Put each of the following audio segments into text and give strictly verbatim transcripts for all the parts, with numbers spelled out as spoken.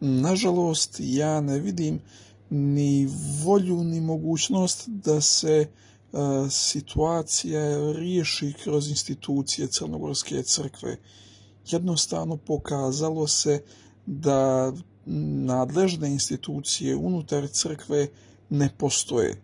nažalost, ja ne vidim ni volju ni mogućnost da se uh, situacija riješi kroz institucije Crnogorske crkve. Jednostavno pokazalo se da nadležne institucije unutar crkve ne postoje.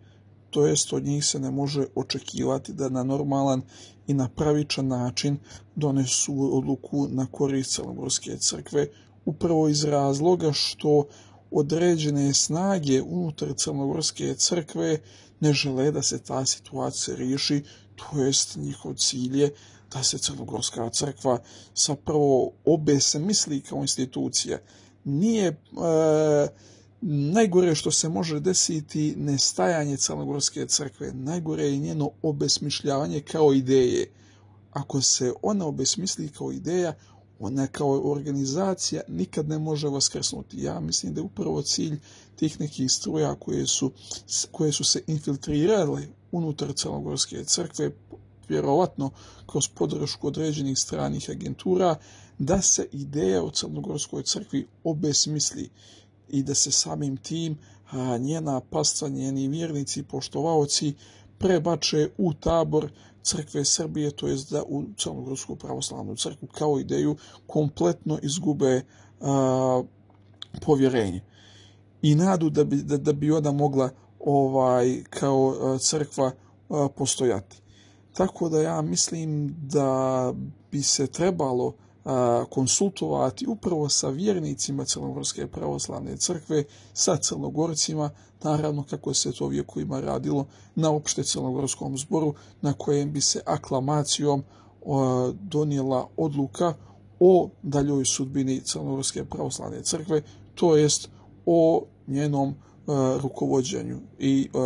To jest, od njih se ne može očekivati da na normalan i na pravičan način donesu odluku na korist Crnogorske crkve, upravo iz razloga što određene snage unutar Crnogorske crkve ne žele da se ta situacija riješi, to jest njihov cilj je da se Crnogorska crkva zapravo obesmisli kao institucija. Nije e, najgore što se može desiti nestajanje Crnogorske crkve, najgore je njeno obesmišljavanje kao ideje. Ako se ona obesmisli kao ideja, ona kao organizacija nikad ne može vaskrsnuti. Ja mislim da je upravo cilj tih nekih struja koje su, koje su se infiltrirale unutar Crnogorske crkve, vjerovatno kroz podršku određenih stranih agentura, da se ideja o Crnogorskoj crkvi obesmisli i da se samim tim a, njena pastva, njeni vjernici, poštovaoci prebače u tabor Crkve Srbije, to jest da u Crnogorsku pravoslavnu crkvu kao ideju kompletno izgube a, povjerenje i nadu da bi, da, da bi ona mogla ovaj kao a, crkva a, postojati. Tako da ja mislim da bi se trebalo a, konsultovati upravo sa vjernicima Crnogorske pravoslavne crkve, sa Crnogorcima, naravno kako se to vjekovima radilo na opšte Crnogorskom zboru, na kojem bi se aklamacijom a, donijela odluka o daljoj sudbini Crnogorske pravoslavne crkve, to jest o njenom a, rukovođenju i a,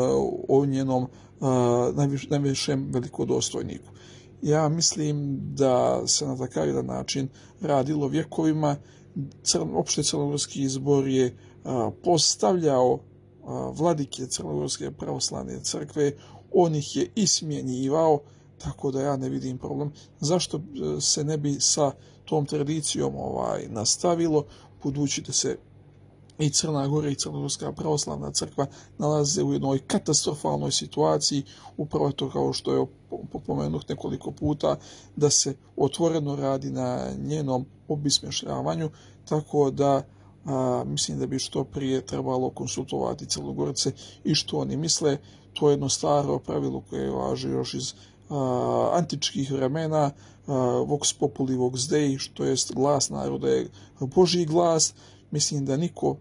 o njenom najviš, najvišem velikodostojniku. Ja mislim da se na takav jedan način radilo vjekovima. Crn, opšte Crnogorski zbor je a, postavljao a, vladike Crnogorske pravoslavne crkve, on ih je ismjenjivao, tako da ja ne vidim problem. Zašto se ne bi sa tom tradicijom ovaj nastavilo, budući da se i Crna Gora i Crnogorska pravoslavna crkva nalaze u jednoj katastrofalnoj situaciji, upravo to kao što je pomenuh nekoliko puta, da se otvoreno radi na njenom obesmišljavanju, tako da a, mislim da bi što prije trebalo konsultovati Crnogorce i što oni misle. To je jedno staro pravilo koje važi još iz a, antičkih vremena, a, vox populi vox dei, što jest glas naroda je Božji glas. Mislim da niko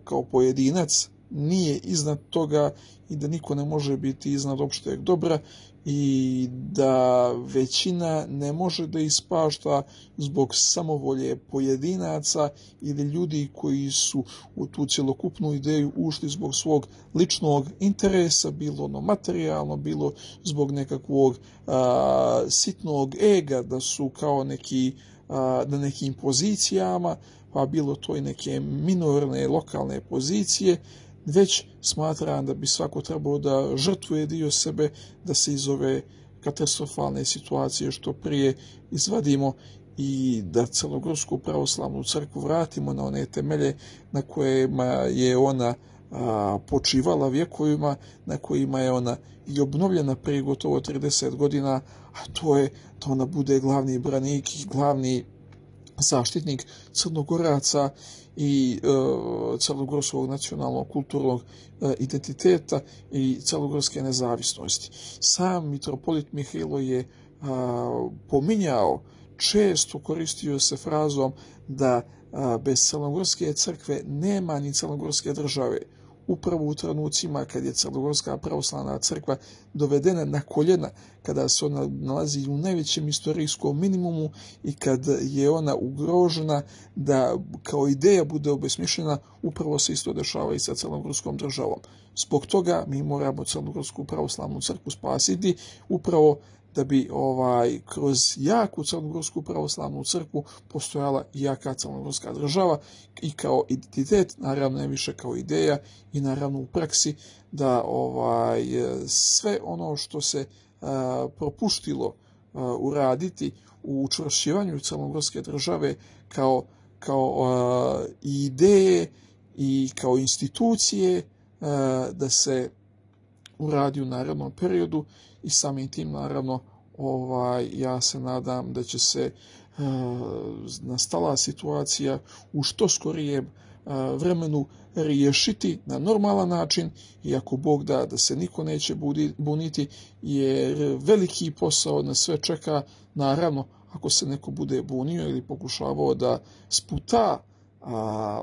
kao pojedinac nije iznad toga i da niko ne može biti iznad opšteg dobra i da većina ne može da ispašta zbog samovolje pojedinaca ili ljudi koji su u tu cjelokupnu ideju ušli zbog svog ličnog interesa, bilo ono materijalno, bilo zbog nekakvog a, sitnog ega, da su kao neki a, na nekim pozicijama, pa bilo to i neke minorne lokalne pozicije, već smatram da bi svako trebalo da žrtvuje dio sebe, da se iz ove katastrofalne situacije što prije izvadimo i da Crnogorsku pravoslavnu crkvu vratimo na one temelje na kojima je ona a, počivala vjekovima, na kojima je ona i obnovljena prije gotovo trideset godina, a to je da ona bude glavni branik i glavni zaštitnik Crnogoraca i e, crnogorskog nacionalnog kulturnog e, identiteta i crnogorske nezavisnosti. Sam mitropolit Mihajlo je a, pominjao, često koristio se frazom da a, bez Crnogorske crkve nema ni Crnogorske države. Upravo u trenucima kad je Crnogorska pravoslavna crkva dovedena na koljena, kada se ona nalazi u najvećem istorijskom minimumu i kad je ona ugrožena da kao ideja bude obesmišljena, upravo se isto dešava i sa Crnogorskom državom. Zbog toga mi moramo Crnogorsku pravoslavnu crkvu spasiti, upravo da bi ovaj kroz jaku Crnogorsku pravoslavnu crkvu postojala jaka Crnogorska država i kao identitet, naravno ne više kao ideja i naravno u praksi da ovaj sve ono što se a, propuštilo a, uraditi u učvršćivanju Crnogorske države kao kao i ideje i kao institucije da se uradi u narednom periodu i samim tim naravno ovaj, ja se nadam da će se uh, nastala situacija u što skorijem uh, vremenu riješiti na normalan način i ako Bog da da se niko neće budi, buniti jer veliki posao nas sve čeka. Naravno ako se neko bude bunio ili pokušavao da sputa a,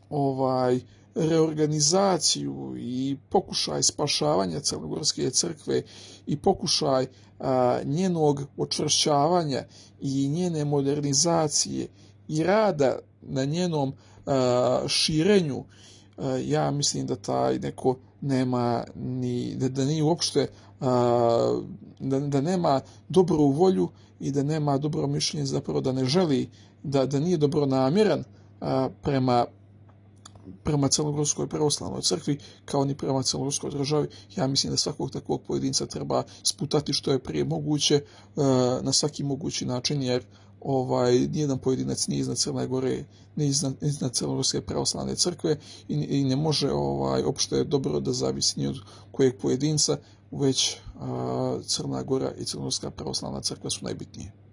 ovaj reorganizaciju i pokušaj spašavanja Crnogorske crkve i pokušaj a, njenog očvršćavanja i njene modernizacije i rada na njenom a, širenju, a, ja mislim da taj neko nema ni, da, da nije uopšte a, da, da nema dobru volju i da nema dobro mišljenje, zapravo da ne želi, da, da nije dobronamjeran a, prema prema Crnogorskoj pravoslavnoj crkvi, kao ni prema Crnogorskoj državi. Ja mislim da svakog takvog pojedinca treba sputati što je prije moguće na svaki mogući način, jer ovaj nijedan pojedinac nije iznad Crne Gore, nije iznad, iznad Crnogorske pravoslavne crkve i, i ne može ovaj opšte dobro da zavisi ni od kojeg pojedinca, već a, Crna Gora i Crnogorska pravoslavna crkva su najbitnije.